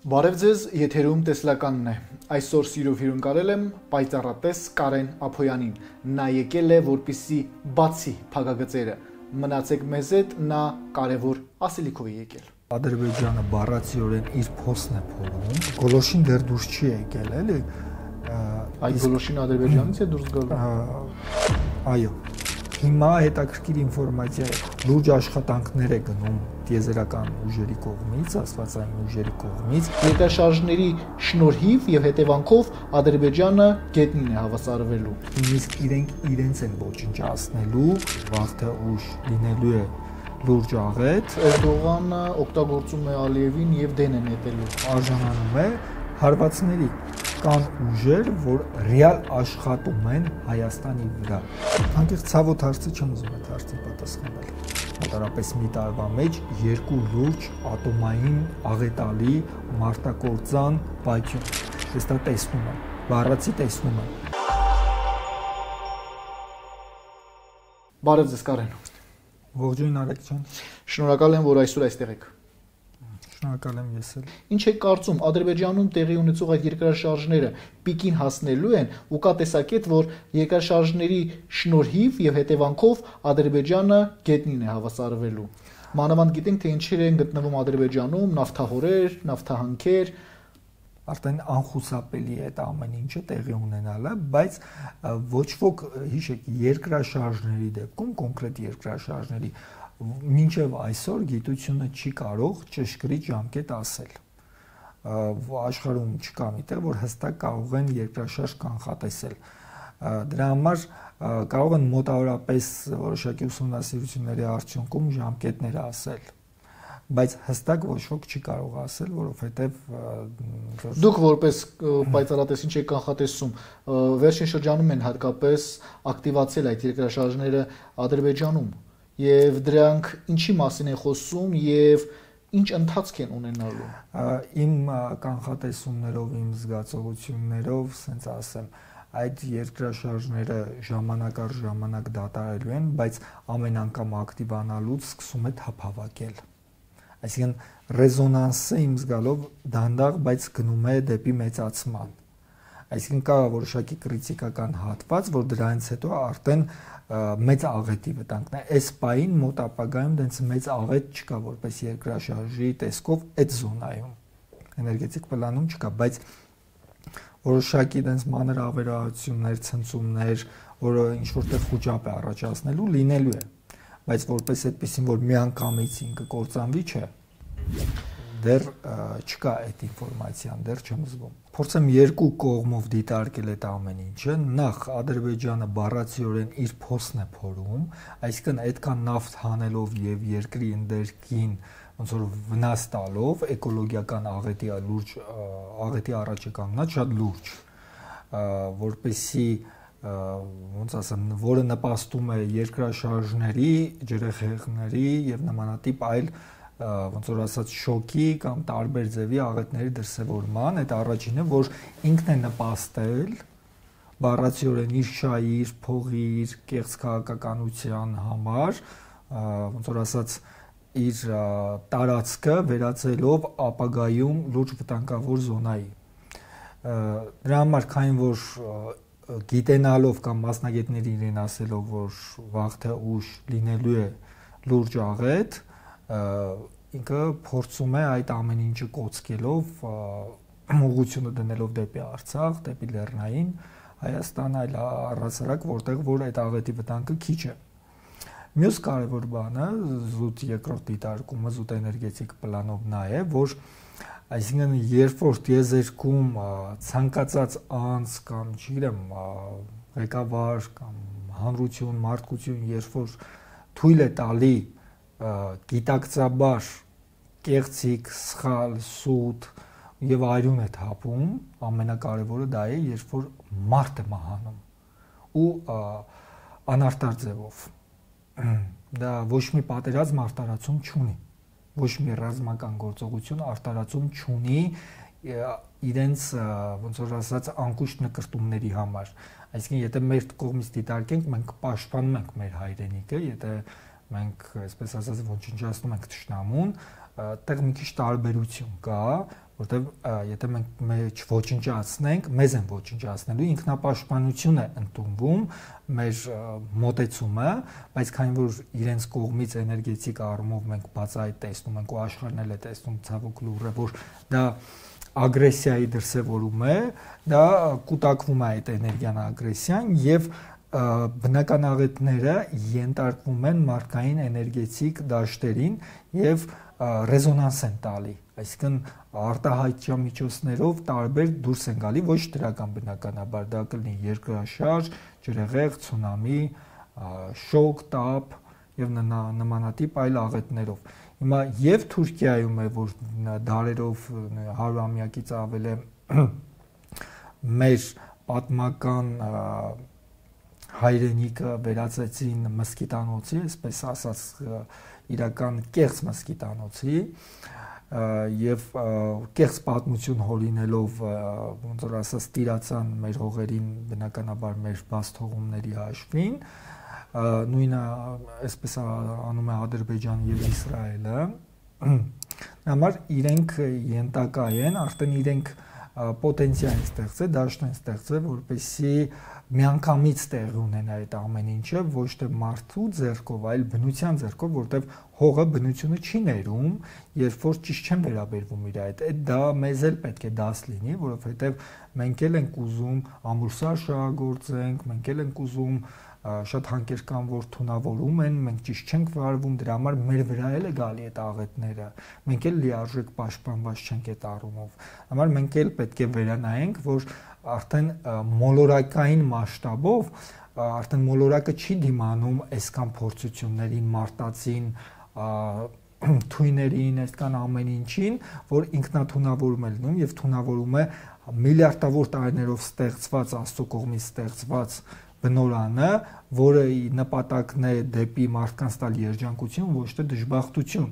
Բարև ձեզ, եթերում տեսլականն է։ Այսօր սիրով հյուրընկալել եմ պայծառատես Կարեն Ափոյանին։ Նա եկել է, որպեսզի բացի փակագծերը։ Մնացեք մեզ հետ, նա կարևոր ասելիքով է եկել։ Ադրբեջանը բառացիորեն իր փոստն է փորում։ Գոլոշին դեռ դուրս չի եկել, էլի։ Այդ գոլոշին Ադրբեջանից է դուրս գալու։ Այո։ Հիմա հետաքրքիր ինֆորմացիա է։ Լուրջ աշխատանքներ է գնում տիեզերական ուժերի կողմից, աստվածային ուժերի կողմից։ Երկրաշարժների շնորհիվ եւ հետևանքով Ադրբեջանը գետնին է հավասարվելու։ Իսկ իրենց են ոչնչացնելու, վաղ թե ուշ լինելու է լուրջ աղետ։ Էրդողանը օգտագործում է Ալիևին եւ դեն է նետելու։ Արժանանում է հարվածների։ Կան ուժեր, որ ռեալ աշխատում են Հայաստանի վրա։ Անկեղծ ցավոտ հարցը չեմ ուզում այդ հարցին պատասխանել։ Մոտարապես մի տարվա մեջ երկու լուրջ ատոմային աղետալի մարտակործան պայթյուն։ Ես դա տեսնում եմ, բառացի տեսնում եմ։ Բարև ձեզ, Կարեն։ Ողջույն Արեգ ջան։ Շնորհակալ եմ, որ այսօր այստեղ եք։ Շնորհակալ եմ ես էլ։ Ինչ եք կարծում, Ադրբեջանում տեղի ունեցող այդ երկրաշարժները պիկին հասնելու են ու կա տեսակետ, որ երկրաշարժների շնորհիվ եւ հետևանքով Ադրբեջանը գետնին է հավասարվելու։ Մանավանդ գիտենք, թե ինչեր են գտնվում Ադրբեջանում, նավթահորեր, նավթահանքեր, արդեն անխուսափելի է այդ ամեն ինչը տեղի ունենալը, բայց ոչ ոք հիշեք երկրաշարժների դեպքում, կոնկրետ երկրաշարժների մինչև այսօր գիտությունը չի կարող ճշգրիտ ժամկետ ասել։ Աշխարհում չկա միտեղ, որ հստակ կարող են երկրաշարժ կանխատեսել։ Դրա համար կարող են մոտավորապես որոշակի ուսումնասիրությունների արդյունքում ժամկետներ ասել, բայց հստակ ոչ ոք չի կարող ասել, որովհետև դուք որպես պայծառատես ինչ եք կանխատեսում, վերջին շրջանում են հատկապես ակտիվացել այդ երկրաշարժները Ադրբեջանում, եւ դրանք ինչի մասին են խոսում եւ ինչ ընթացք են ունենալու։ Իմ կանխատեսումներով, իմ զգացողություններով, ասենց ասեմ, այդ երկրաշարժները ժամանակ առ ժամանակ դադարելու են, բայց ամեն անգամ ակտիվանալուց սկսում է թափավակել։ Այսինքն ռեզոնանսը իմ զգալով դանդաղ, բայց գնում է դեպի մեծացման։ Այսինքն կա որոշակի կրիտիկական հատված, որ դրանից հետո արդեն մեծ աղետի վտանգն է։ Այս պահին մոտ ապագայում դենց մեծ աղետ չկա, որպես երկրաշարժի տեսքով այդ զոնայում էներգետիկ պլանում չկա, բայց որոշակի դենց մանր ավերածություններ, ցնցումներ, որը ինչ որտեղ խոճապ է առաջացնելու, լինելու է, բայց որպես այդպեսին, որ միանգամից ինքը կործանվի չէ, դեռ չկա այդ ինֆորմացիան, դեռ չեմ զգում։ Փորձեմ երկու կողմով դիտարկել այդ ամեն ինչը։ Նախ Ադրբեջանը բառացիորեն իր փոստն է փորում, այսինքն այդքան նավթ հանելով եւ երկրի ընդերքին ոնց որ վնաս տալով էկոլոգիական աղետի լուրջ աղետի առաջ է կանգնած շատ լուրջ, որպեսզի ոնց ասեմ, որը նպաստում է երկրաշարժների, ջրեխեղների եւ նմանատիպ այլ ոնց որ ասած շոկի կամ տարբեր ձևի աղետների դրսևորման, այդ առաջինը, որ ինքն է նպաստել բառացիորեն իր շահի, իր փողի, իր կեղծ քաղաքականության համար, ոնց որ ասած իր տարածքը վերածելով ապագայում լուրջ վտանգավոր զոնայի։ Դրա համար քանի որ գիտենալով կամ մասնագետների իրեն ասելով, որ վաղ թե ուշ լինելու է լուրջ աղետ, ինքը փորձում է այդ ամեն ինչը կոծկելով, ուղղությունը դնելով դեպի Արցախ, դեպի Լեռնային Հայաստան, այլ առհասարակ որտեղ որ այդ աղետի վտանգը քիչ է։ Մյուս կարևոր բանը, զուտ երկրորդ դիտարկումը, զուտ էներգետիկ պլանով նա է, որ այսինքն երբ որ տիեզերքում ցանկացած անձ կամ չգիտեմ ղեկավար կամ հանրություն, մարդկություն, երբ որ թույլ է տալի գիտակցաբար կեղծիկ, սխալ, սուտ եւ այրուն է թափում, ամենակարևորը դա է, երբ որ մարդ է մահանում ու անարտար ձևով։ Դա ոչ մի պատերազմ արտարացում չունի, ոչ մի ռազմական գործողություն արտարացում չունի իրենց ոնց որ ասած անկուշտ նկրտումների համար։ Այսինքն եթե մեր կողմից դիտարկենք, մենք պաշտպանում ենք մեր հայրենիքը, եթե մենք այսպես ասած ոչնչացնում ենք թշնամուն, այդտեղ մի քիչ տարբերություն կա, որտեվ եթե մենք մեջ ոչնչացնենք, մեզ են ոչնչացնելու, ինքնապաշտպանություն է ընդունվում մեր մոտեցումը, բայց քանի որ իրենց կողմից էներգետիկ առումով մենք բացահայտ տեսնում ենք ու աշխարհն էլ է տեսնում ցավոք լուրը, որ դա ագրեսիայի դրսևորում է, դա կուտակվում է այդ էներգիան ագրեսիան եւ բնական աղետները ենթարկվում են մարդկային էներգետիկ դաշտերին եւ ռեզոնանս են տալի, այսինքն արտահայտչամիջոցներով տարբեր դուրս են գալի, ոչ դրական բնականաբար, դա կլինի երկրաշարժ, ջրհեղեղ, ցունամի, շոկ, տապ եւ նմանատիպ այլ աղետներով։ Հիմա եւ Թուրքիայում է, որ դարերով 100-ամյակից ավել է մեր պատմական հայրենիքը վերածեցին մսկիտանոցի, այսպես ասած իրական կեղծ մսկիտանոցի եւ կեղծ պատմություն հորինելով ոնց որ ասած տիրացան մեր հողերին բնականաբար մեր բացթողումների հաշվին, նույնը այսպես անում է Ադրբեջանը եւ Իսրայելը, համար իրենք ենթակա են, արդեն իրենք պոտենցիալ են ստեղծել, դաշտ են ստեղծել, որպեսզի միանգամից տեղի ունենա այդ ամեն ինչը, ոչ թե մարդու ձեռքով, այլ բնության ձեռքով, որտեղ հողը բնությունը չի ներում, երբ որ ճիշտ չեն վերաբերվում իր այդ դա մեզ էլ պետք է դաս լինի, որովհետև մենք էլ ենք ուզում ամուրսար շահագործենք, մենք էլ ենք ուզում շատ հանքեր կան, որ թունավորում են, մենք ճիշտ չենք վարվում, դրա համար մեր վրա էլ է գալի այդ աղետները, մենք էլ լիարժեք պաշտպանված չենք այդ առումով, համար մենք էլ պետք է վերանայենք, որ արդեն մոլորակային մասշտաբով, արդեն մոլորակը չի դիմանում այսքան փորձություններին, մարտածին, թույներին, այսքան ամեն ինչին, որ ինքնաթունավորում է լինում եւ թունավորում է միլիարդավոր տարիներով ստեղծված Աստծո կողմից ստեղծված բնորանը, որը նպատակն է դեպի մարդկանց տալ երջանկություն, ոչ թե դժբախտություն,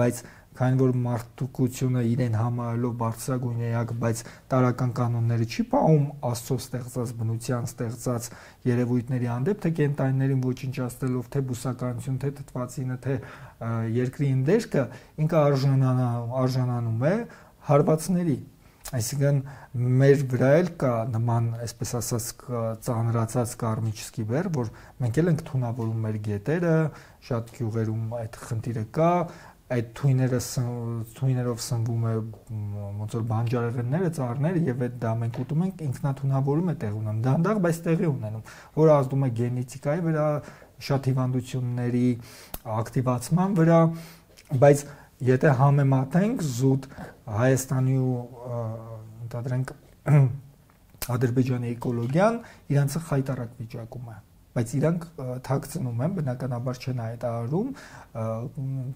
բայց քանի որ մարդկությունը իրեն համարելով բարձրագույն էակ, բայց տարական կանոնները չի պահում Աստծո ստեղծած բնության ստեղծած երևույթների հանդեպ, թե կենտանիներին ոչնչացնելով, թե բուսականություն, թե թթվածինը, թե երկրի ընդերքը, ինքը արժանանում է հարվածների։ Այսինքն մեր վրա էլ կա նման, այսպես ասած, ծանրացած կարմիչսկի բեռ, որ մենք էլ ենք թունավորում մեր գետերը, շատ գյուղերում այդ խնդիրը կա, այդ թույներով սնվում է ոնց որ բանջարեղենները, ծառները եւ այդ դա մենք ուտում ենք, ինքնաթունավորում է տեղ ունենում, դանդաղ, բայց տեղի ունենում, որը ազդում է գենետիկայի վրա, շատ հիվանդությունների ակտիվացման վրա, բայց եթե համեմատենք զուտ Հայաստանի ու ընդհանրենք Ադրբեջանի էկոլոգիան, իրանցը խայտարակ վիճակում է, բայց իրանք թաքցնում են, բնականաբար չեն հայտարարում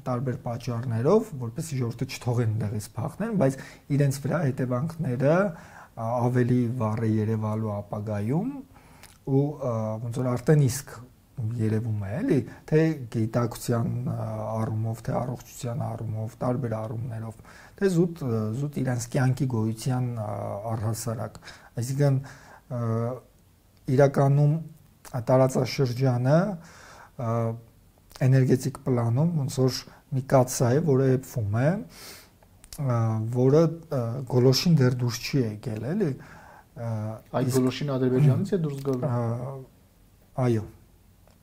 տարբեր պատճառներով, որպեսզի ժողովուրդը չթողեն դեղից փախնեն, բայց իրենց վրա հետևանքները ավելի վառ է երևալու ապագայում ու ոնց որ արդեն իսկ երևում է, էլի, թե գիտակցության առումով, թե առողջության առումով, տարբեր առումներով, թե զուտ իրենց կյանքի գոյության առհասարակ, այսինքն իրականում տարածաշրջանը էներգետիկ պլանում ոնց որ մի կաթսա է, որը եփվում է, որը գոլոշին դեռ դուրս չի եկել, էլի։ Այդ գոլոշին Ադրբեջանից է դուրս գալու։ Այո,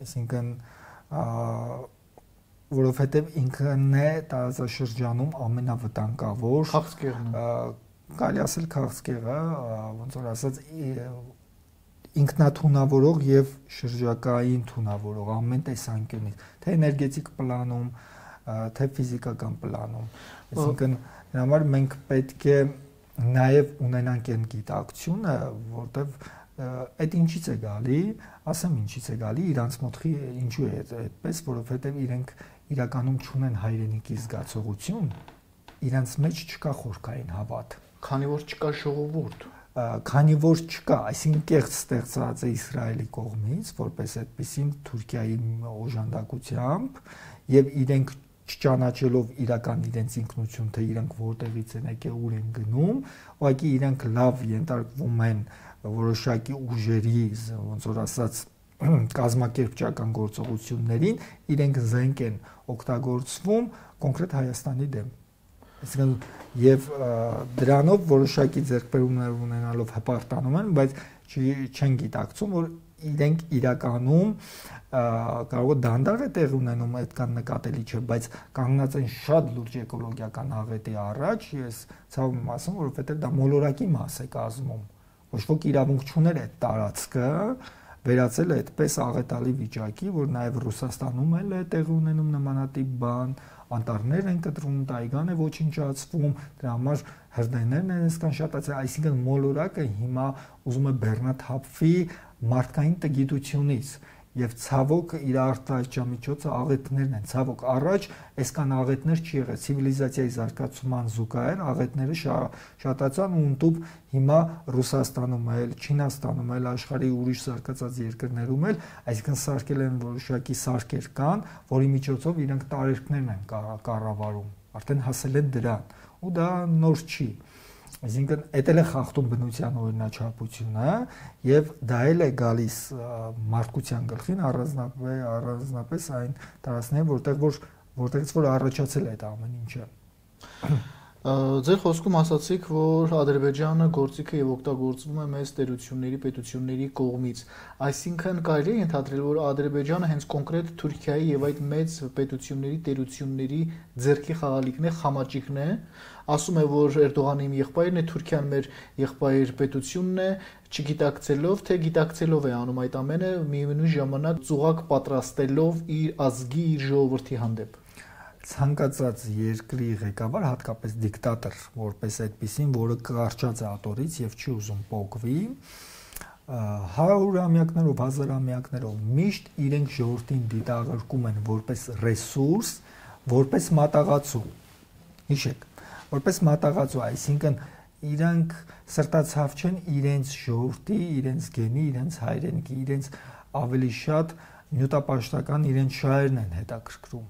այսինքն որովհետև ինքն է տարածաշրջանում ամենավտանգավոր քաղցկեղն է, կարելի ասել քաղցկեղը, ոնց որ ասած ինքնաթունավորող եւ շրջակային թունավորող ամեն տեսանկյունից, թե էներգետիկ պլանում, թե ֆիզիկական պլանում, այսինքն դրա համար մենք պետք է նաեւ ունենանք այն գիտակցությունը, որտեվ այդ ինչից է գալի, ասեմ ինչից է գալի, իրանց մոտ ինչու է այդպես, որովհետև իրենք իրականում չունեն հայրենիքի զգացողություն, իրանց մեջ չկա խորքային հավատ, քանի որ չկա ժողովուրդ, քանի որ չկա, այսինքն կեղծ ստեղծած է Իսրայելի կողմից, որպես այդպեսին Թուրքիայի օժանդակությամբ եւ իրենք չճանաչելով իրական իրենց ինքնություն, թե իրենք որտեղից են եկել, ուր են գնում, ուղղակի իրենք լավ ենթարկվում են որոշակի ուժերի, ոնց որ ասած, կազմակերպչական գործողություններին, իրենք զենք են օգտագործվում կոնկրետ Հայաստանի դեմ։ Այսինքն եւ դրանով որոշակի ձեռքբերումներ ունենալով հպարտանում են, բայց չեն գիտակցում, որ իրենք իրականում կարող է դանդաղ է տեղ ունենում, այդքան նկատելի չէ, բայց կանգնած են շատ լուրջ էկոլոգիական աղետի առաջ, ես ցավում եմ ասում, որովհետեւ դա մոլորակի մաս է կազմում, ոչ ոք իրավունք չուներ այդ տարածքը վերածել է այդպես աղետալի վիճակի, որ նաև Ռուսաստանում էլ է տեղ ունենում նմանատիպ բան, անտառներ են կտրում, տայգան է ոչնչացվում, դրա համար հրդեհներն են այսքան շատացել, այսինքն մոլորակը հիմա ուզում է բեռնաթափվի մարդկային տգիտությունից եւ ցավոք իր արտահայտչամիջոցը աղետներն են, ցավոք առաջ այսքան աղետներ չի եղել, ցիվիլիզացիայի զարգացման զուգահեռ աղետները շատացան ու ընդཐུպ հիմա Ռուսաստանում էլ, Չինաստանում էլ, աշխարհի ուրիշ զարգացած երկրներում էլ, այսինքն սարքել են որոշակի սարքեր կան, որի միջոցով իրենք տարերքներն են կառավարում, արդեն հասել են դրան, ու դա նոր չի։ Այսինքն էդ էլ է խախտում բնության օրինաչափությունը եւ դա էլ է գալիս մարդկության գլխին առանձնապես այն տարածքները, որտեղից որ առաջացել է այդ ամեն ինչը։ Ձեր խոսքում ասացիք, որ Ադրբեջանը գործիքը եւ օգտագործվում է մեծ տերությունների, պետությունների կողմից, այսինքն կարելի է ենթադրել, որ Ադրբեջանը հենց կոնկրետ Թուրքիայի եւ այդ մեծ պետությունների, տերությունների ձեռքի խաղալիքն է, խամաճիկն է, ասում է, որ Էրդողանը իմ եղբայրն է, Թուրքիան մեր եղբայր պետությունն է, չգիտակցելով, թե գիտակցելով է անում այդ ամենը, միևնույն ժամանակ ծուղակ պատրաստելով իր ազգի, իր ժողովրդի հանդեպ։ Ցանկացած երկրի ղեկավար, հատկապես դիկտատոր, որպես այդպեսին, որը կարճած է ատորից եւ չի ուզում փոխվի, 100-ամյակներով, 1000-ամյակներով միշտ իրենք ժողովրդին դիտարկում են որպես ռեսուրս, որպես մատաղացու։ Հիշեք, որպես մատաղացու, այսինքն իրանք սրտացավ չեն իրենց ժողովրդի, իրենց գենի, իրենց հայրենիքի, իրենց ավելի շատ նյութապաշտական իրենց շահերն են հետաքրքրում։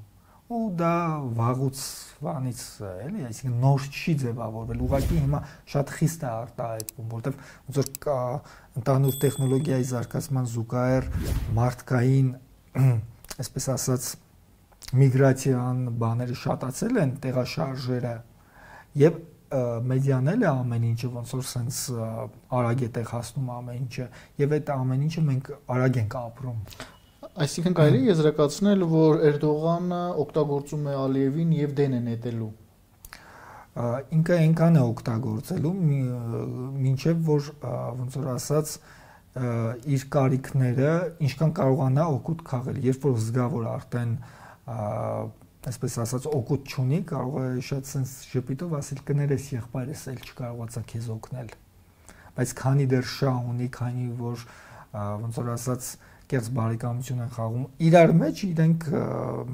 Ու դա վաղուց վանից էլի, այսինքն նոր չի ձևավորվել, ուղղակի հիմա շատ խիստ է արտահայտվում, որտեղ ոնց որ ընդհանուր տեխնոլոգիայի զարգացման զուգահեռ մարդկային, այսպես ասած, միգրացիան բաները շատացել են, տեղաշարժերը եւ մեդիան էլ է ամեն ինչը ոնց որ sense արագ է տեղ հասնում ամեն ինչը եւ այդ ամեն ինչը մենք արագ ենք ապրում։ Այսինքն կարելի է եզրակացնել, որ Էրդողանը օգտագործում է Ալիևին եւ դեն է նետելու։ Ինքը այնքան է օգտագործելու, մինչեւ որ ոնց որ ասած իր կարիքները ինչքան կարողանա օգուտ քաղել, երբ որ զգա որ արդեն այսպես ասած օգուտ չունի, կարող է շատ sense շփիտով ասել կներես եղբայրս էլ չկարողացա քեզ օգնել։ Բայց քանի դեռ շահ ունի, քանի որ ոնց որ ասած կերս բարեկամություն են խաղում իրար մեջ, իրենք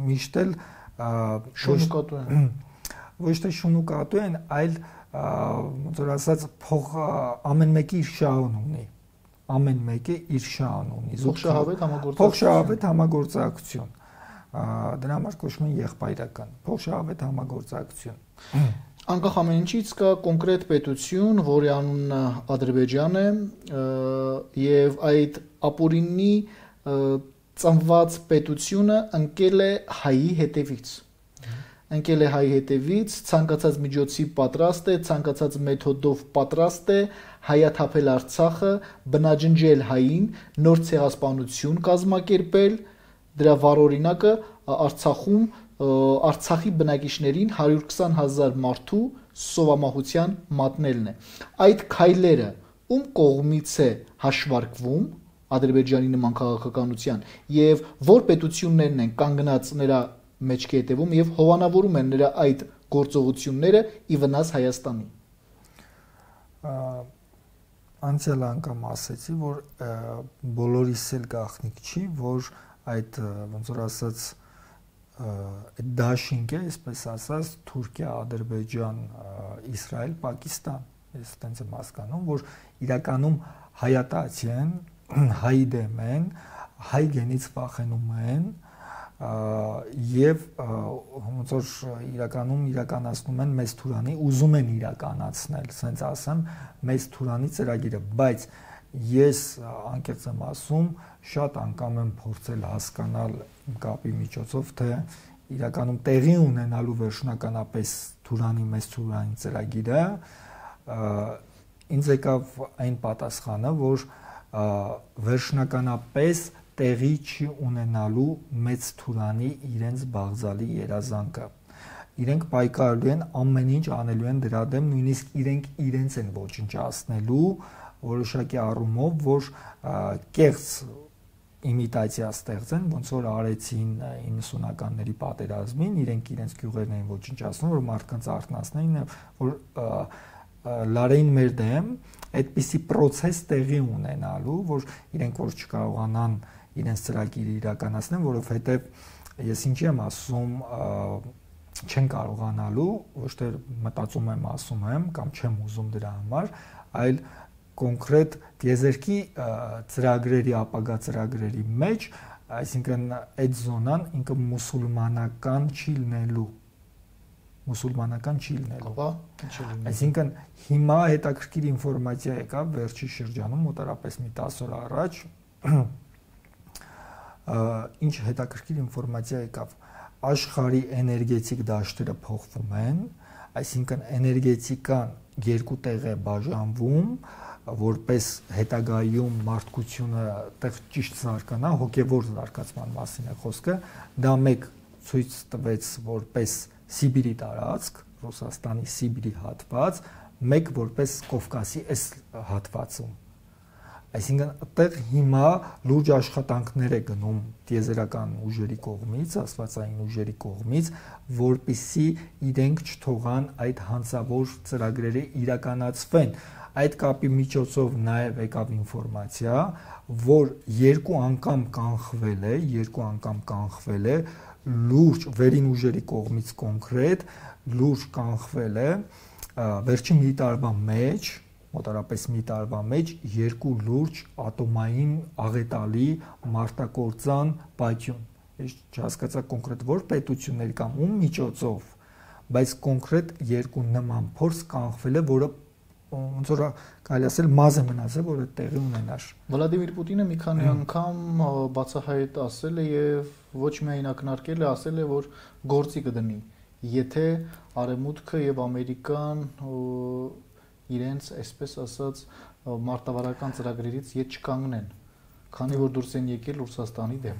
միշտ էլ շունուկատու են։ Ոչ թե շունուկատու են, այլ ոնց որ ասած փող ամեն մեկի իր շահն ունի։ Ամեն մեկը իր շահն ունի։ Փոխշահավետ համագործակցություն։ Դրա համար կոչվում են եղբայրական, փոխշահավետ համագործակցություն։ Անկախ ամեն ինչից կա կոնկրետ պետություն, որի անունը Ադրբեջան է, եւ այդ ապօրինի ծնված պետությունը ընկել է հայի հետևից։ Ընկել է հայի հետևից, ցանկացած միջոցի պատրաստ է, ցանկացած մեթոդով պատրաստ է հայաթափել Արցախը, բնաջնջել հային, նոր ցեղասպանություն կազմակերպել, դրա վառօրինակը Արցախում Արցախի բնակիչներին 120,000 մարդու սովամահության մատնելն է։ Այդ քայլերը ում կողմից է հաշվարկվում Ադրբեջանի նման քաղաքականության եւ որ պետություններն են կանգնած նրա մեջքի հետևում եւ հովանավորում են նրա այդ գործողությունները ի վնաս Հայաստանի։ Անցյալ անգամ ասեցի, որ բոլորիս էլ գաղտնիք չի, որ այդ ոնց որ ասած այդ դաշինքը, այսպես ասած, Թուրքիա, Ադրբեջան, Իսրայել, Պակիստան, ես այդպես եմ հասկանում, որ իրականում հայատացի են, հայ դեմ են, հայ գենից վախենում են եւ ոնց որ իրականում իրականացնում են մեծ Թուրանի, ուզում են իրականացնել, ասենց ասեմ, մեծ Թուրանի ծրագիրը, բայց ես անկեղծ եմ ասում, շատ անգամ եմ փորձել հասկանալ կապի միջոցով, թե իրականում տեղի ունենալու վերջնականապես մեծ Թուրանի ծրագիրը, ինձ եկավ այն պատասխանը, որ վերջնականապես տեղի չի ունենալու մեծ Թուրանի իրենց բաղձալի երազանքը։ Իրենք պայքարելու են, ամեն ինչ անելու են դրա դեմ, նույնիսկ իրենց են ոչնչացնելու որոշակի առումով, որ կեղծ իմիտացիա ստեղծեն, ոնց որ արեցին 90-ականների պատերազմին, իրենց գյուղերն էին ոչնչացնում, որ մարդկանց արթնացնեին, որ լարեին մեր դեմ, այդպիսի process տեղի ունենալու, որ իրենք որ չկարողանան իրենց ծրագիրը իրականացնեն, որովհետև ես ինչի եմ ասում, չեն կարողանալու, ոչ թե մտածում եմ, ասում եմ, կամ չեմ ուզում դրա համար, այլ կոնկրետ տիեզերքի ծրագրերի, ապագա ծրագրերի մեջ, այսինքն այդ զոնան ինքը մուսուլմանական չի լինելու։ Այսինքն հիմա հետաքրքիր ինֆորմացիա եկավ վերջի շրջանում, մոտարապես մի 10 օր առաջ, ինչ հետաքրքիր ինֆորմացիա եկավ, աշխարհի էներգետիկ դաշտերը փոխվում են, այսինքն էներգետիկան երկու տեղ է բաժանվում, որպես հետագայում մարդկությունը տեղ ճիշտ զարգանա, հոգևոր զարգացման մասին է խոսքը, դա մեկ ցույց տվեց որպես Սիբիրի տարածք, Ռուսաստանի Սիբիրի հատված, մեկ որպես Կովկասի այս հատվածում։ Այսինքն այդտեղ հիմա լուրջ աշխատանքներ է գնում տիեզերական ուժերի կողմից, աստվածային ուժերի կողմից, որպիսի իրենք չթողան այդ հանցավոր ծրագրերը իրականացվեն։ Այդ կապի միջոցով նաև եկավ ինֆորմացիա, որ երկու անգամ կանխվել է լուրջ վերին ուժերի կողմից կոնկրետ լուրջ կանխվել է վերջին մի տարվա մեջ, մոտարապես մի տարվա մեջ երկու լուրջ ատոմային աղետալի մարտակործան պայթյուն։ Ես չհասկացա կոնկրետ որ պետությունների կամ ում միջոցով, բայց կոնկրետ երկու նման փորձ կանխվել է, որը ոնց որ կարելի ասել մազը մնացել, որ այդ տեղի ունենար։ Վլադիմիր Պուտինը մի քանի անգամ բացահայտ ասել է եւ ոչ միայն ակնարկել է, ասել է, որ գործի կդնի, եթե Արևմուտքը եւ Ամերիկան իրենց, այսպես ասած, մարտավարական ծրագրերից ետ չկանգնեն, քանի որ դուրս են եկել Ռուսաստանի դեմ։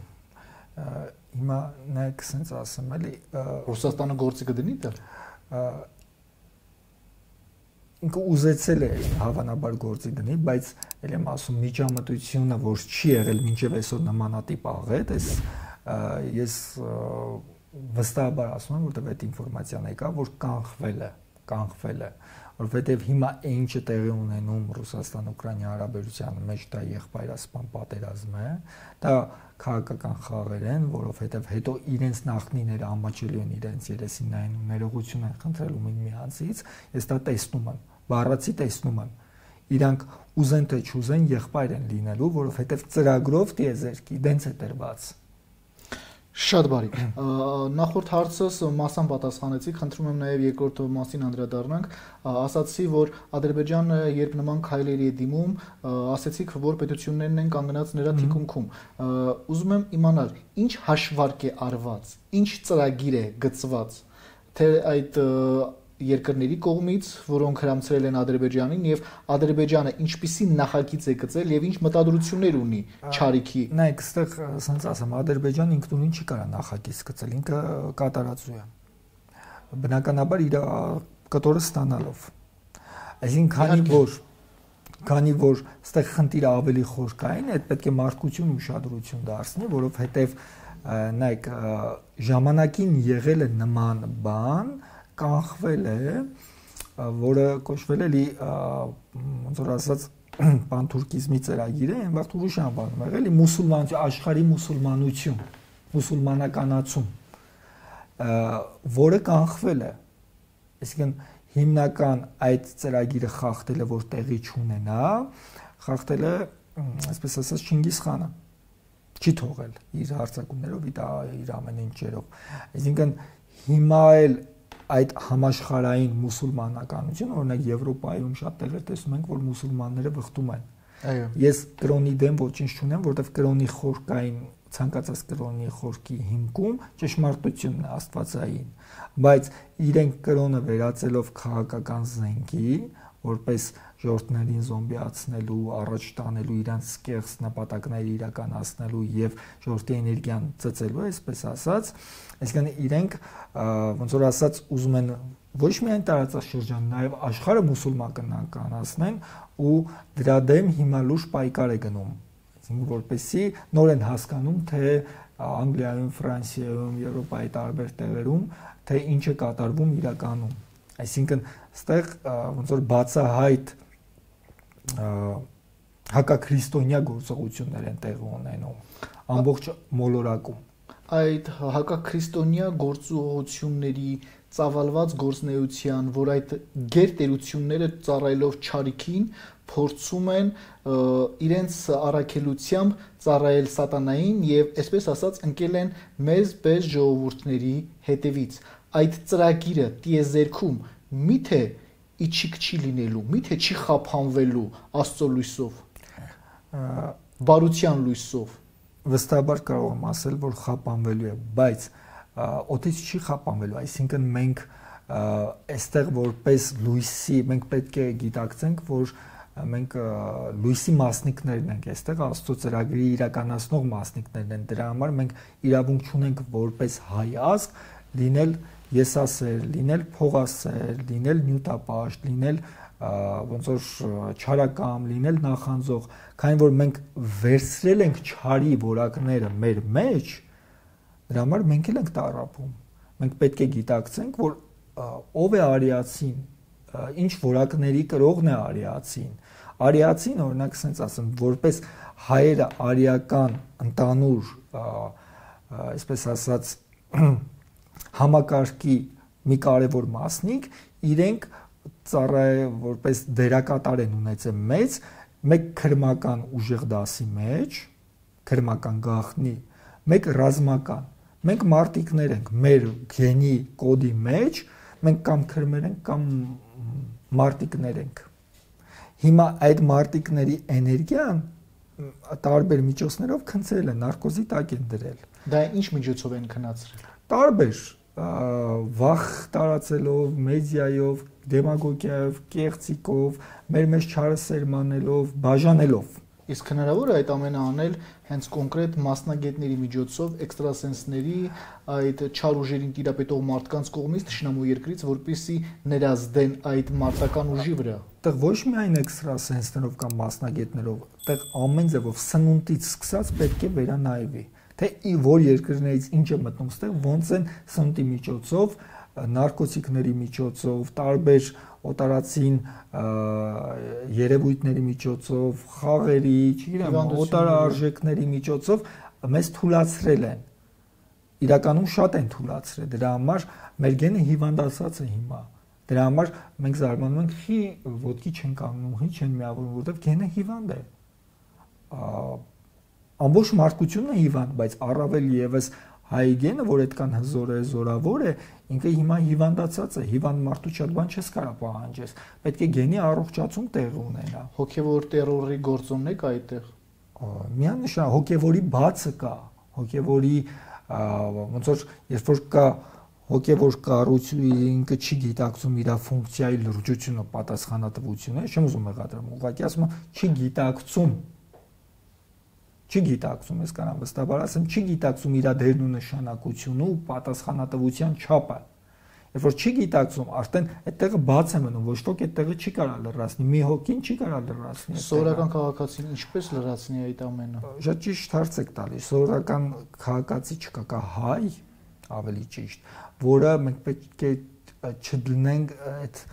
Հիմա նայեք, ասենց ասեմ, էլի Ռուսաստանը գործի կդնի դա։ Ինքը ուզեցել է հավանաբար գործի դնի, բայց ել եմ ասում միջամտությունը, որ չի եղել մինչև այսօր նմանատիպ աղետ, ես վստահաբար ասում եմ, որտեղ այդ ինֆորմացիան եկա, որ կանխվել է, որովհետև հիմա ինչը տեղի ունենում Ռուսաստան-Ուկրաինա հարաբերության մեջ դա եղբայրասպան պատերազմ է, դա քաղաքական խաղեր են, որովհետև հետո իրենց նախնիները ամաչելու են իրենց երեսին նայեն ու ներողություն են խնդրելու միմյանցից, ես դա տեսնում եմ, բառացի տեսնում եմ, իրանք ուզեն թե չուզեն եղբայր են լինելու, որովհետև ծրագրով տիեզերքի դենց է տրված։ Շատ բարի։ Նախորդ հարցս մասամբ պատասխանեցիք, խնդրում եմ նաև երկրորդ մասին անդրադառնանք, ասացի, որ Ադրբեջանը երբ նման քայլերի է դիմում, ասացիք, որ պետություններն են կանգնած նրա թիկունքում։ Ուզում եմ իմանալ, ինչ հաշվարկ է արված, ինչ ծրագիր է գծված, թե այդ երկրների կողմից, որոնք հրամցրել են Ադրբեջանին եւ Ադրբեջանը ինչպիսի նախագիծ է գծել եւ ինչ մտադրություններ ունի Չարիքի։ Նայեք, այստեղ ասենց ասեմ, Ադրբեջանը ինքնուրույն չի կարող նախագիծ գծել, ինքը կատարածու է։ Բնականաբար իր կտորը ստանալով։ Այսինքն քանի որ այստեղ խնդիրը ավելի խորքային է, պետք է մարդկություն ուշադրություն դարձնի, որովհետեւ նայեք, ժամանակին եղել է նման բան, կանխվել է, որը կոչվել է ոնց որ ասած պանթուրքիզմի ծրագիր է, այն վաղ ուրիշ անվանում է, էլի մուսուլմանություն, աշխարհի մուսուլմանություն, մուսուլմանականացում, որը կանխվել է։ Այսինքն հիմնական այդ ծրագիրը խախտելը, որ տեղի չունենա, խախտել է, այսպես ասած, Չինգիզ խանը։ Չի թողել իր հարձակումներով, իր ամեն ինչերով։ Այսինքն հիմա էլ այդ համաշխարհային մուսուլմանականություն, օրինակ Եվրոպայում շատ տեղեր տեսնում ենք, որ մուսուլմանները վխտում են։ Այո։ Ես կրոնի դեմ ոչինչ չունեմ, որովհետև կրոնի խորքային ցանկացած կրոնի խորքի հիմքում ճշմարտությունն է աստվածային, բայց իրենք կրոնը վերածելով քաղաքական զենքի, որպես ժողովրդներին զոմբիացնելու, առաջ տանելու, իրանց կեղծ նպատակները իրականացնելու եւ ժողովրդի էներգիան ծծելու, այսպես ասած, այսինքն իրենք ոնց որ ասած ուզում են ոչ միայն տարածաշրջան, նաեւ աշխարհը մուսուլմանականացնեն ու դրա դեմ հիմա լուրջ պայքար է գնում, այսինքն որպեսզի նոր են հասկանում, թե Անգլիայում, Ֆրանսիայում, Եվրոպայի տարբեր տեղերում, թե ինչ է կատարվում իրականում, այսինքն այստեղ ոնց որ բացահայտ հակաքրիստոնյա գործողություններ են տեղի ունենում ամբողջ մոլորակում։ Այդ հակաքրիստոնյա գործողությունների ծավալված գործնեության, որ այդ գերտերությունները ծառայելով չարիքին փորձում են իրենց առաքելությամբ ծառայել սատանային եւ այսպես ասած ընկել են մեզ պես ժողովուրդների հետևից։ Այդ ծրագիրը տիեզերքում միթե իջիկ չի լինելու, միթե չի խափանվելու Աստծո լույսով, բարության լույսով։ Վստահաբար կարող եմ ասել, որ խափանվելու է, բայց օդից չի խափանվելու, այսինքն մենք այստեղ որպես լույսի, մենք պետք է գիտակցենք, որ մենք լույսի մասնիկներն ենք, այստեղ Աստծո ծրագրի իրականացնող մասնիկներն են, դրա համար մենք իրավունք չունենք որպես հայ ազգ լինել եսասեր, լինել փողասեր, լինել նյութապաշտ, լինել ոնց որ չարակամ, լինել նախանձող, քանի որ մենք վերցրել ենք չարի որակները մեր մեջ, դրա համար մենք էլ ենք տառապում։ Մենք պետք է գիտակցենք, որ ով է արիացին, ինչ որակների կրողն է արիացին։ Արիացին, օրինակ, ասենց ասեմ, որպես հայերը արիական ընդանուր, այսպես ասած, համակարգի մի կարևոր մասնիկ, իրենք որպես դերակատար են ունեցել մեկ քրմական ուժեղ դասի մեջ, քրմական գաղտնի, մեկ ռազմական։ Մենք մարտիկներ ենք, մեր գենի կոդի մեջ, մենք կամ քրմեր ենք, կամ մարտիկներ ենք։ Հիմա այդ մարտիկների էներգիան տարբեր միջոցներով քնծել են, նարկոզի տակ են դրել։ Դա ինչ միջոցով են քնացրել։ Տարբեր վախ տարածելով, մեդիայով, դեմագոգիայով, կեղծիկով, մեր մեջ չարը սերմանելով, բաժանելով։ Իսկ հնարավոր է այդ ամենը անել հենց կոնկրետ մասնագետների միջոցով, էքստրասենսների, այդ չար ուժերին տիրապետող մարդկանց կողմից թշնամու երկրից, որպեսզի ներազդեն այդ մարտական ուժի վրա։ Այդտեղ ոչ միայն էքստրասենսներով կամ մասնագետներով, այդտեղ ամեն ձևով սնունդից սկսած պետք է վերանայվի, թե որ երկրներից ինչ է մտնում ստեղ, ոնց են սնունդի միջոցով, նարկոտիկների միջոցով, տարբեր օտարացին երևույթների միջոցով, խաղերի, չգիտեմ, օտարարժեքների միջոցով մեզ թույլատրել են։ Իրականում շատ են թույլատրել, դրա համար մեր գենը հիվանդացած է հիմա։ Դրա համար մենք զարմանում ենք, խի ոտքի չեն կանգնում, խի չեն միավորվում, որովհետև գենը հիվանդ է։ Ամբողջ մարդկությունն է հիվանդ, բայց առավել եւս հայ գենը, որ այդքան հզոր է, զորավոր է, ինքը հիմա հիվանդացած է, հիվանդ մարդու շատ բան չես կարող պահանջես։ Պետք է գենի առողջացում տեղի ունենա։ Հոգևոր տերորի գործոնն է կա այդտեղ։ Միանշանակ հոգևորի բացը կա, հոգևորի ոնց որ երբ որ կա հոգևոր կառույցը ինքը չի գիտակցում իր ֆունկցիայի լրջությունը, պատասխանատվությունը, չեմ ուզում մեղադրեմ, ուղղակի ասում եմ, չի գիտակցում, ես կանամ վստահաբար ասեմ, չի գիտակցում իր դերն ու նշանակությունը ու պատասխանատվության չափը։ Երբ որ չի գիտակցում, արդեն այդտեղը բաց է մնում, ոչ ոք այդտեղը չի կարող լրացնի, մի հոգին չի կարող լրացնի։ Սովորական քաղաքացին ինչպես լրացնի այդ ամենը։ Շատ ճիշտ հարց եք տալիս։ Սովորական քաղաքացի չկա, կա հայ, ավելի ճիշտ, որը մենք պետք է չդնենք այդ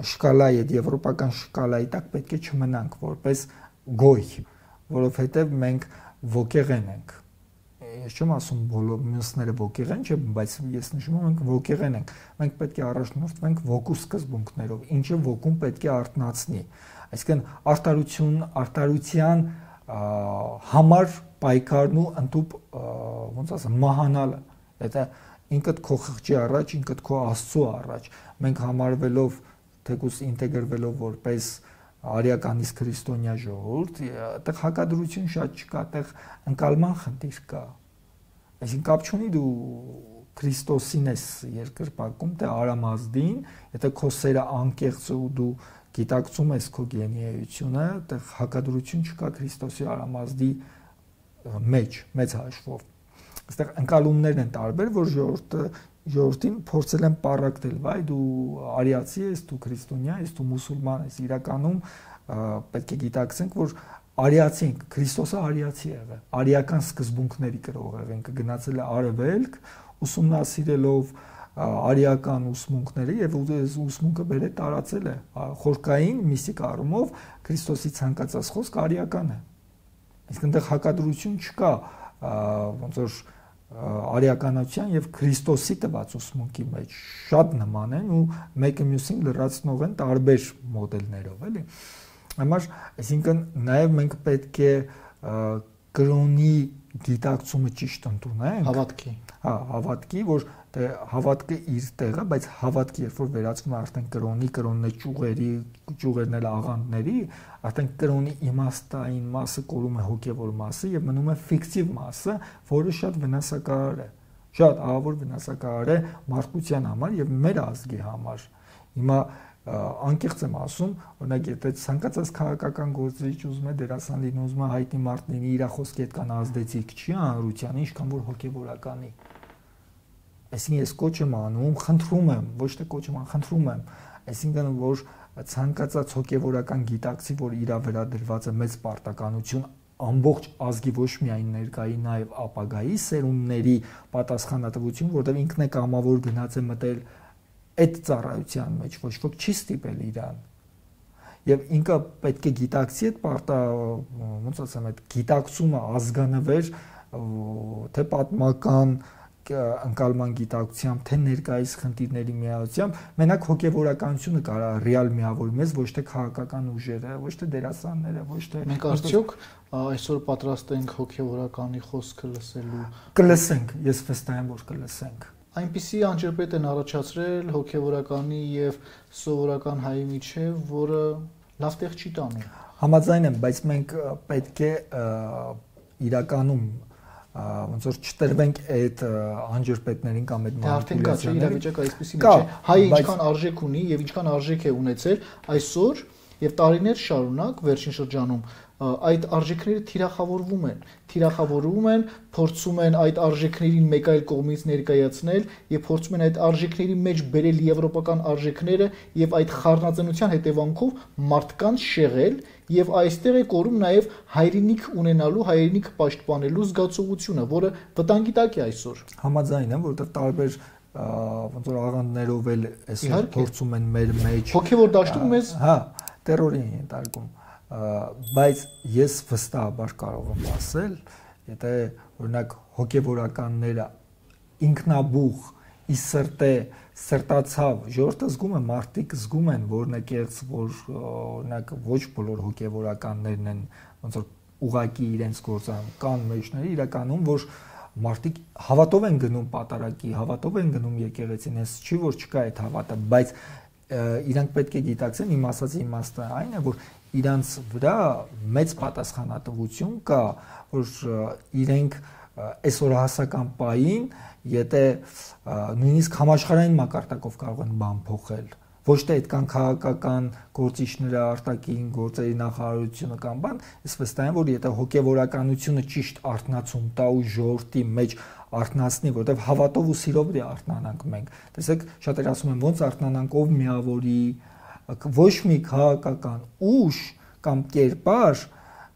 շկալայի, այդ եվրոպական շկալայի տակ պետք է չմնանք որպես գոյ, որովհետև մենք ոգեղեն ենք։ Ես չեմ ասում բոլոր մյուսները ոգեղեն չէ, բայց ես նշում եմ մենք ոգեղեն ենք։ Մենք պետք է առաջնորդվենք ոգու սկզբունքներով, ինչը ոգուն պետք է արտնացնի։ Այսինքն արտարության համար պայքարն ու ընդհուպ ոնց ասեմ մահանալը։ Դա ինքդ քո խղճի առաջ, ինքդ քո Աստծո առաջ։ Մենք համարվելով թեկուզ ինտեգրվելով որպես արիականից քրիստոնյա ժողովուրդ, այդտեղ հակադրություն շատ չկա, այդտեղ ընկալման խնդիր կա։ Այսինքն կապ չունի դու Քրիստոսին ես երկրպագում, թե Արամազդին, եթե քո սերը անկեղծ ու դու գիտակցում ես քո գենիայությունը, այդտեղ հակադրություն չկա Քրիստոսի Արամազդի մեջ, մեծ հաշվով։ Այստեղ ընկալումներն են տարբեր, որ ժողովրդին փորձել են պարակտել, վայ դու արիացի ես, դու քրիստոնյա ես, դու մուսուլման ես։ Իրականում պետք է գիտակցենք, որ արիացի ենք, Քրիստոսը արիացի եղել, արիական սկզբունքների կրող եղել, գնացել է արևելք, ուսումնասիրելով արիական ուսմունքները եւ ուսմունքը բերել տարածել է խորքային միստիկ առումով Քրիստոսի ցանկացած խոսք արիական է։ Իսկ այնտեղ հակադրություն չկա ոնց որ արիականության եւ Քրիստոսի տված ուսմունքի մեջ շատ նման են ու մեկը մյուսին լրացնող են տարբեր մոդելներով, էլի։ Համար, այսինքն նաեւ մենք պետք է կրոնի գիտակցումը ճիշտ ընդունենք, հավատքի։ Հա, հավատքի, որ հավատքը իր տեղը, բայց հավատքը երբ որ վերածվում է արդեն կրոնն է ճյուղերն էլ աղանդների, արդեն կրոնի իմաստային մասը կորում է հոգևոր մասը եւ մնում է ֆիկտիվ մասը, որը շատ վնասակար է։ Շատ ահավոր վնասակար է մարդկության համար եւ մեր ազգի համար։ Հիմա անկեղծ եմ ասում, օրինակ եթե ցանկացած քաղաքական գործիչ ուզում է դերասան լինի, ուզում է հայտնի մարդ լինի, իր խոսքի այդքան ազդեցիկ չի հանրության, ինչքան որ հոգևորականի։ Այսինքն ես կոչ եմ անում, խնդրում եմ, ոչ թե կոչ եմ, խնդրում եմ, այսինքն որ ցանկացած հոգևորական գիտակցի, որ իր վերադրված է մեծ պարտականություն ամբողջ ազգի ոչ միայն ներկայի, նաև ապագայի սերունդների պատասխանատվություն, որտեղ ինքն է կամավոր գնաց է մտել այդ ծառայության մեջ, ոչ ոք չի ստիպել իրան։ Եվ ինքը պետք է գիտակցի այդ ոնց ասեմ, այդ գիտակցումը ազգանվեր, թե պատմական ընկալման գիտակցությամբ, թե ներկայիս խնդիրների միացությամբ, մենակ հոգևորականությունը կարա ռեալ միավորի մեզ, ոչ թե քաղաքական ուժերը, ոչ թե դերասանները, ոչ թե մենք արդյոք այսօր պատրաստ ենք հոգևորականի խոսքը լսելու։ Կլսենք, ես վստահ եմ, որ կլսենք։ Այնպիսի անջրպետ են առաջացրել հոգևորականի եւ սովորական հայի միջև, որը լավ տեղ չի տանում։ Համաձայն եմ, բայց մենք պետք է իրականում ոնց որ չտրվենք այդ անջրպետներին կամ այդ մանիպուլյացիաներին։ Իրավիճակը այսպեսի մեջ է։ Հայը ինչքան արժեք ունի եւ ինչքան արժեք է ունեցել այսօր եւ տարիներ շարունակ վերջին շրջանում այդ արժեքները թիրախավորվում են, փորձում են այդ արժեքներին մեկ այլ կողմից ներկայացնել եւ փորձում են այդ արժեքների մեջ բերել եվրոպական արժեքները եւ այդ խառնածնության հետևանքով մարդկանց շեղել եւ այստեղ է կորում նաեւ հայրենիք ունենալու, հայրենիք պաշտպանելու զգացողությունը, որը վտանգի տակ է այսօր։ Համաձայն եմ, որովհետեւ տարբեր ոնց որ աղանդներով էլ այսօր փորձում են մեր մեջ հոգեվոր դաշտում մեզ հա տերորի են ենթարկում, բայց ես վստահաբար կարող եմ ասել, եթե օրինակ հոգեվորականները ինքնաբուխ ի սրտե սրտացավ ժողովուրդը զգում է, մարդիկ զգում են, որն է կեղծ, որ օրինակ ոչ բոլոր հոգեվորականներն են ոնց որ ուղակի իրենց գործան կան մեջները իրականում, որ մարդիկ հավատով են գնում պատարակի, հավատով են գնում եկեղեցին, ես չի որ չկա այդ հավատը, բայց իրանք պետք է գիտակցեն, իմ ասածի իմաստը այն է, որ իրանց վրա մեծ պատասխանատվություն կա, որ իրենք այսօր հասական պահին, եթե նույնիսկ համաշխարհային մակարդակով կարող են բան փոխել, ոչ թե այդքան քաղաքական գործիչները, արտաքին գործերի նախարարությունը կամ բան, ես վստահ եմ, որ եթե հոգեվորականությունը ճիշտ արթնացում տա ու ժողովրդի մեջ արթնացնի, որտեղ հավատով ու սիրով դե արթնանանք մենք։ Տեսեք, շատեր ասում են, ոնց արթնանանք, ով միավորի, ոչ մի քաղաքական ուժ կամ կերպար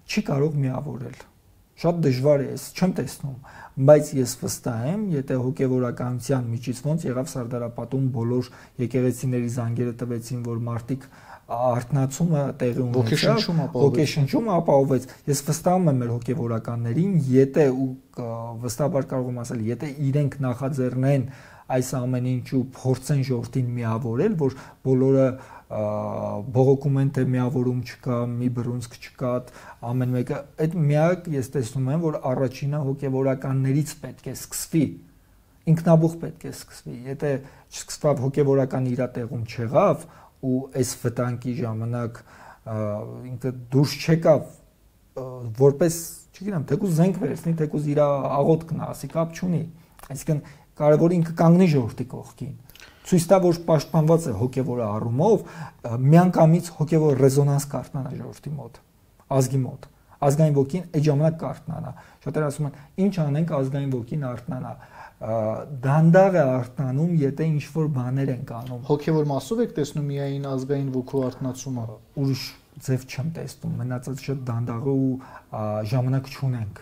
չի կարող միավորել։ Շատ դժվար է, ես չեմ տեսնում, բայց ես վստահ եմ, եթե հոգեվորականության միջից ոնց եղավ Սարդարապատում բոլոր եկեղեցիների զանգերը տվեցին, որ մարդիկ արթնացումը տեղի ունեցավ, ոգեշնչումը ապահովեց։ Ես վստահում եմ մեր հոգեվորականներին, եթե ու վստահաբար կարող եմ ասել, եթե իրենք նախաձեռնեն այս ամեն ինչու փորձեն ժողովրդին միավորել, որ բոլորը բողոքում են, թե միավորում չկա, մի բռունցք չկա, ամեն մեկը, այդ միակ ես տեսնում եմ, որ առաջինը հոգեվորականներից պետք է սկսվի, ինքնաբուխ պետք է սկսվի, եթե չսկսվավ հոգեվորական իր տեղում չեղավ ու այս վտանգի ժամանակ ինքը դուրս չեկավ որպես, չգիտեմ, թեկուզ զենք վերցնի, թեկուզ իր աղոթքն ասի, կապ չունի։ Այսինքն կարևորը ինքը կանգնի ժողովրդի կողքին։ Ցույց տա, որ պաշտպանված է հոգևոր առումով, միանգամից հոգևոր ռեզոնանս կարտնանա ժողովրդի մոտ, ազգի մոտ։ Ազգային ոգին այդ ժամանակ կարտնանա։ Շատերը ասում են, ինչ անենք ազգային ոգին արտնանա։ Դանդաղ է արտնանում, եթե ինչ-որ բաներ են անում։ Հոգևոր մասով եք տեսնում միայն ազգային ոգու արտնացումը։ Ուրիշ ձև չեմ տեսնում, մնացած շատ դանդաղը ու ժամանակ չունենք։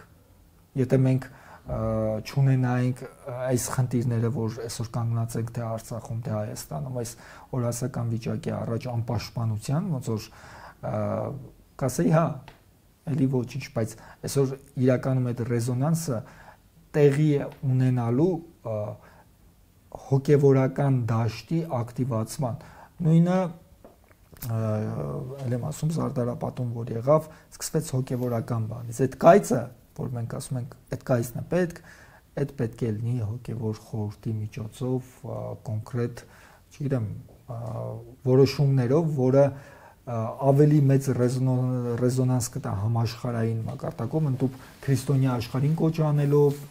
Եթե մենք չունենայինք այս խնդիրները, որ այսօր կանգնած ենք թե Արցախում, թե Հայաստանում, այս օրասական վիճակի առաջ անպաշտպանության, ոնց որ կասեի, հա, էլի ոչինչ, բայց այսօր իրականում այդ ռեզոնանսը տեղի է ունենալու հոգևորական դաշտի ակտիվացման։ Նույնը ել եմ ասում Զարդարապատում, որ եղավ, սկսվեց հոգևորական բանից։ Այդ կայծը, որ մենք ասում ենք, այդ կայծն է պետք, այդ պետք է լինի հոգևոր խորհրդի միջոցով կոնկրետ, չգիտեմ, որոշումներով, որը ավելի մեծ ռեզոնանս կտա համաշխարհային մակարդակում, ընդհանուր քրիստոնյա աշխարհին կոչ անելով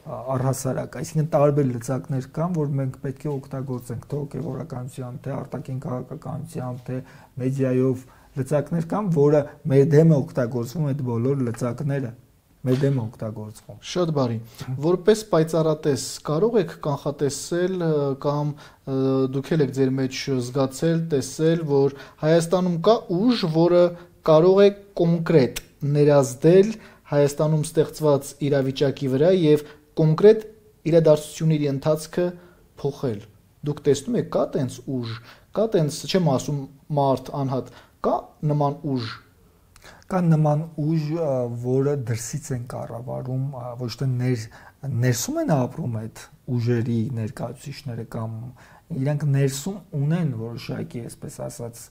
առհասարակ, այսինքն տարբեր լծակներ կան, որ մենք պետք է օգտագործենք թե հոգևորականությամբ, թե արտաքին քաղաքականությամբ, թե մեդիայով լծակներ կան, որը մեր դեմ է օգտագործվում այդ բոլոր լծակները, մեր դեմ է օգտագործվում։ Շատ բարի։ Որպես պայծառատես կարող եք կանխատեսել կամ դուք եք ձեր մեջ զգացել, տեսել, որ Հայաստանում կա ուժ, որը կարող է կոնկրետ ներազդել Հայաստանում ստեղծված իրավիճակի վրա եւ կոնկրետ իրադարձությունների ընթացքը փոխել։ Դուք տեսնում եք, կա տենց ուժ, կա տենց, չեմ ասում մարդ անհատ, կա նման ուժ։ Կա նման ուժ, որը դրսից են կառավարում, ոչ թե ներսում են ապրում այդ ուժերի ներկայացուցիչները կամ իրենք ներսում ունեն որոշակի, այսպես ասած,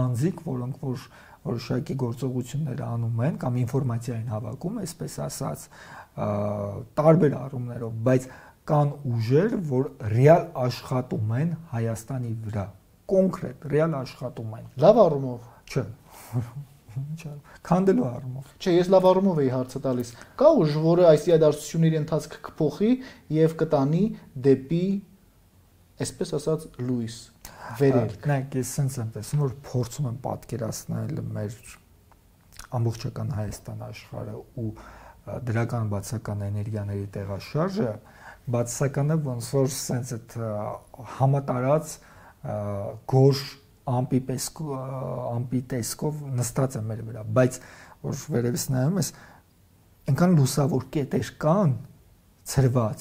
անձիկ, որոնք որ որոշակի գործողություններ անում են կամ ինֆորմացիա են հավաքում, այսպես ասած, տարբեր առումներով, բայց կան ուժեր, որ ռեալ աշխատում են Հայաստանի վրա, կոնկրետ ռեալ աշխատում են։ Լավ առումով։ Չէ։ Քանդելու առումով։ Չէ, ես լավ առումով էի հարցը տալիս։ Կա ուժ, որը այս իրադարձությունների ընթացքը կփոխի եւ կտանի դեպի, այսպես ասած, լույս, վերելք։ Նայեք, ես sense եմ տեսնում, որ փորձում եմ պատկերացնել մեր ամբողջական Հայաստան աշխարհը ու դրական բացական էներգիաների տեղաշարժը, բացականը ոնց որ sense այդ համատարած գորշ ամպի տեսքով նստած է մեր վրա, բայց որ վերևից նայում ես, այնքան լուսավոր կետեր կան ցրված,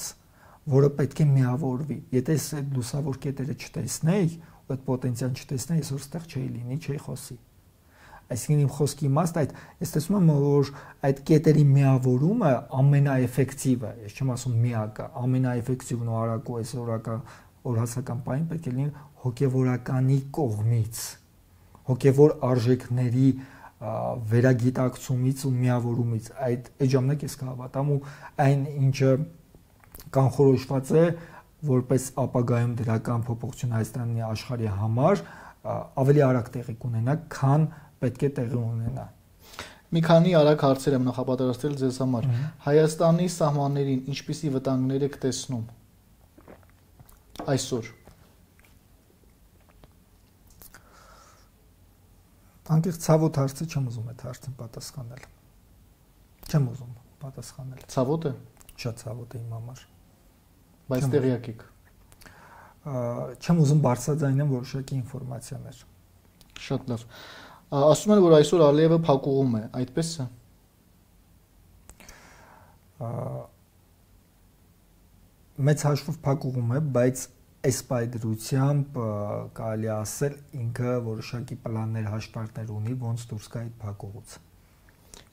որը պետք է միավորվի։ Եթե ես այդ լուսավոր կետերը չտեսնեի, ու այդ պոտենցիալ չտեսնեի, այսօր ստեղ չէի լինի, չէի խոսի։ Այսինքն իմ խոսքի իմաստը այդ, ես տեսնում եմ, որ այդ կետերի միավորումը ամենաէֆեկտիվը, ես չեմ ասում միակը, ամենաէֆեկտիվն ու արագ ու այսօրական օրհասական պահին պետք է լինի հոգևորականի կողմից, հոգևոր արժեքների վերագիտակցումից ու միավորումից, այդ ժամանակ ես կհավատամ ու այն ինչը կանխորոշված է որպես ապագայում դրական փոփոխություն Հայաստանի աշխարհի համար ավելի արագ տեղի կունենա, քան պետք է տեղի ունենա։ Մի քանի արագ հարցեր եմ նախապատրաստել ձեզ համար։ Հայաստանի սահմաններին ինչպիսի վտանգներ եք տեսնում այսօր։ Անկեղծ ցավոտ հարցը չեմ ուզում այդ հարցին պատասխանել։ Չեմ ուզում պատասխանել։ Ցավոտ է։ Շատ ցավոտ է իմ համար։ Բայց տեղյակ եք։ Չեմ ուզում բարձրաձայնեմ որոշակի ինֆորմացիաներ։ Շատ լավ։ Ասում են, որ այսօր Ալիևը փակուղում է, այդպես է։ Մեծ հաշվով փակուղում է, բայց այս պայդրությամբ կարելի ասել ինքը որոշակի պլաններ, հաշվարկներ ունի, ոնց դուրս գա այդ փակուղուց։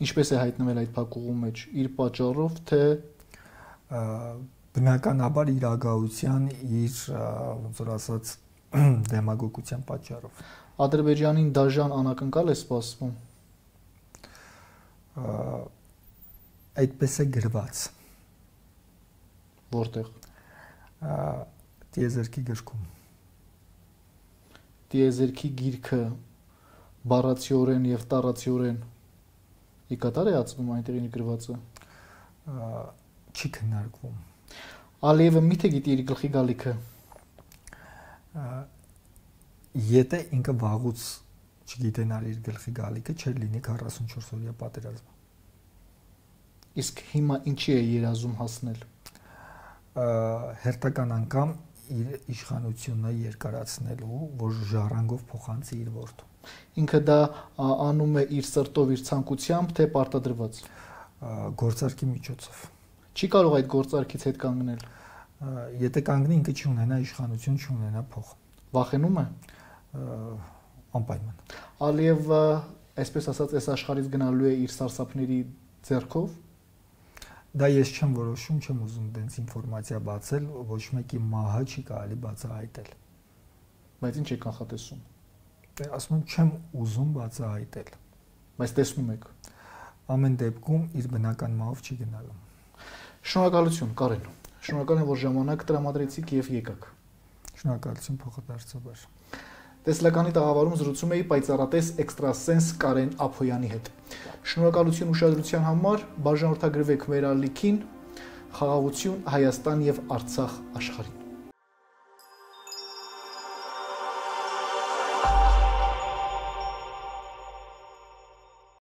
Ինչպես է հայտնվել այդ փակուղու մեջ, իր պատճառով, թե բնականաբար իր ագահության, իր ոնց որ ասած դեմագոգության պատճառով։ Ադրբեջանին դաժան անակնկալ է սպասվում։ Այդպես է գրված։ Որտեղ։ Տիեզերքի գրքում։ Տիեզերքի գիրքը բառացիորեն եւ տառացիորեն ի կատար է ածվում այնտեղի գրվածը։ Չի քննարկվում։ Ալիևը միթե գիտի իր գլխի գալիքը։ Եթե ինքը վաղուց չգիտենար իր գլխի գալիքը, չէր լինի 44 օրյա պատերազմը։ Իսկ հիմա ինչի է երազում հասնել։ Հերթական անգամ իր իշխանությունը երկարացնելու, որ ժառանգով փոխանցի իր որդուն։ Ինքը դա անում է իր սրտով, իր ցանկությամբ, թե պարտադրված։ Գործարքի միջոցով։ Չի կարող այդ գործարքից հետ կանգնել։ Եթե կանգնի, ինքը չունենա իշխանություն, չունենա փող։ Վախենում է։ Անպայման։ Ալիևը, այսպես ասած, այս աշխարհից գնալու է իր սարսափների ձեռքով։ Դա ես չեմ որոշում, չեմ ուզում դենց ինֆորմացիա բացել, ոչ մեկի մահը չի կարելի բացահայտել։ Բայց ինչ է կանխատեսում։ Ասում եմ, չեմ ուզում բացահայտել։ Բայց տեսնում եք։ Ամեն դեպքում իր բնական մահով չի գնալու։ Շնորհակալություն, Կարեն։ Շնորհակալ եմ, որ ժամանակ տրամադրեցիք եւ եկաք։ Շնորհակալություն փոխադարձաբար։ Տեսլականի տաղավարում զրուցում էի պայծառատես էքստրասենս Կարեն Ափոյանի հետ։ Շնորհակալություն ուշադրության համար, բաժանորդագրվեք մեր ալիքին, խաղաղություն Հայաստան եւ Արցախ աշխարհին։